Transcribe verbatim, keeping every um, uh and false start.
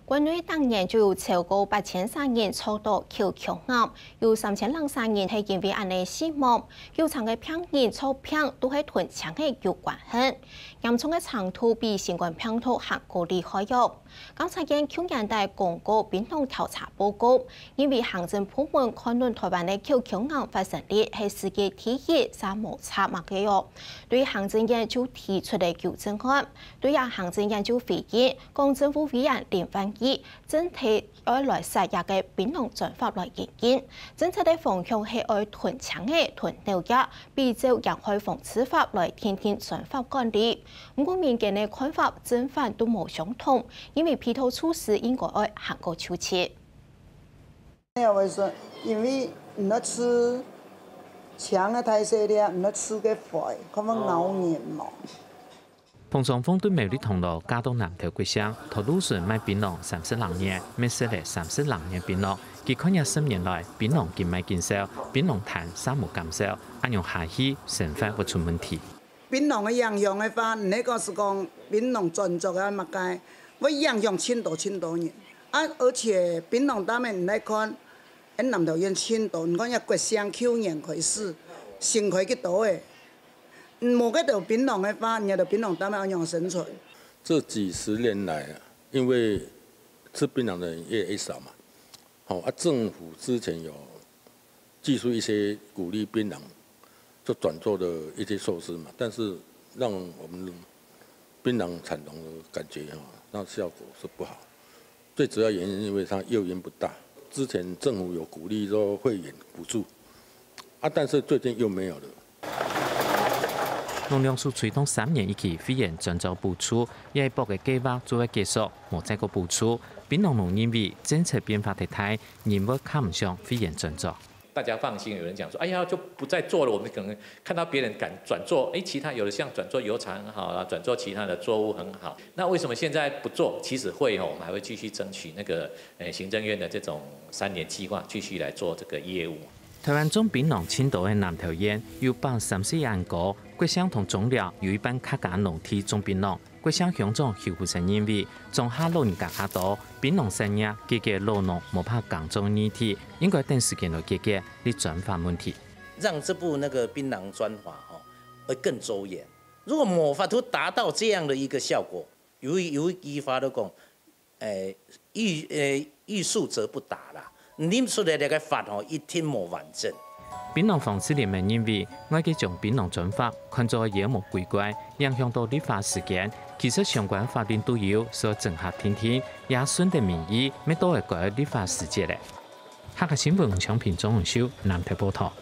國內逐年就有超過八千儕人著著口腔癌，有三千零儕人係因為恁仔死亡。有成个病人著病都係同青仔有關係，嚴重个程度比新冠病毒還過厲害喲。監察院舊年底公告檳榔調查報告，因為行政部門看準臺灣个口腔癌發生率係世界第一，嗄無差麼个哦。對行政院就提出了糾正案。對啊，行政院就回應，講政府委員林萬億 真係愛來設這个檳榔專法來研究。政策个方向係愛同青仔、同農業，比照《危害防治法》來訂定專法管理。毋過民間个看法正反都無相同，因為鼻頭處事應該愛還過就職。我會說，因為毋好食青个大細粒，毋好食个壞，可能咬人嘛。 彭雙鳳對苗栗銅鑼嫁到南投國姓，頭路脣賣檳榔三十零年，乜食了三十零年檳榔。佢看這十年來，檳榔緊賣緊少，檳榔攤嗄無減少，恁樣下去，生活會出問題。檳榔个影響个話，毋係講係講檳榔專做个麼个，會影響盡多盡多人。啊，而且檳榔擔个你來看，𫣆南投縣盡多，你看這國姓舊年開始，新開幾多个。 無該兜檳榔个話，你兜檳榔擔个愛仰生存？這幾十年來啊，因為吃檳榔的人越來越少嘛，好啊，政府之前有祭出一些鼓勵檳榔做轉作的一些措施嘛，但是讓我們檳榔產農的感覺哈，那效果是不好。 最主要原因是因為它誘因不大。之前政府有鼓勵說會員補助，啊，但是最近又沒有了。農糧署推動三年一期會員轉作補助，這一駁个計畫就會結束，無再過補助。檳榔農認為政策變化忒大，人會看毋上會員轉作。 大家放心，有人講說，哎呀，就不再做了。我們可能看到別人敢轉做，哎，其他有的像轉做油廠很好啊，轉做其他的作物很好。那為什麼現在不做？其實會吼，我們還會繼續爭取那個，呃，行政院的這種三年計劃，繼續來做這個業務。臺灣種檳榔盡多个南投縣，有百三十一安哥，國姓同中寮有一半客家農地種檳榔。 國姓鄉長邱福生認為，莊下老人家較多，檳榔產業解決老農無法耕種个議題，應該等時間來解決這專法問題。讓這部那個檳榔專法吼，會更周延。如果無法度達到這樣的一個效果，有一，有一句話都講，誒，欲，誒，欲速則不達啦。 你出來這個法吼，一定無完整。檳榔防治聯盟認為，外界將檳榔專法看做妖魔鬼怪，影響到立法時間。其實相關法令都有，需要整合定定，也順著民意，乜到了該立法時節咧。客家新聞吳昌平、鍾永秀，南投報導。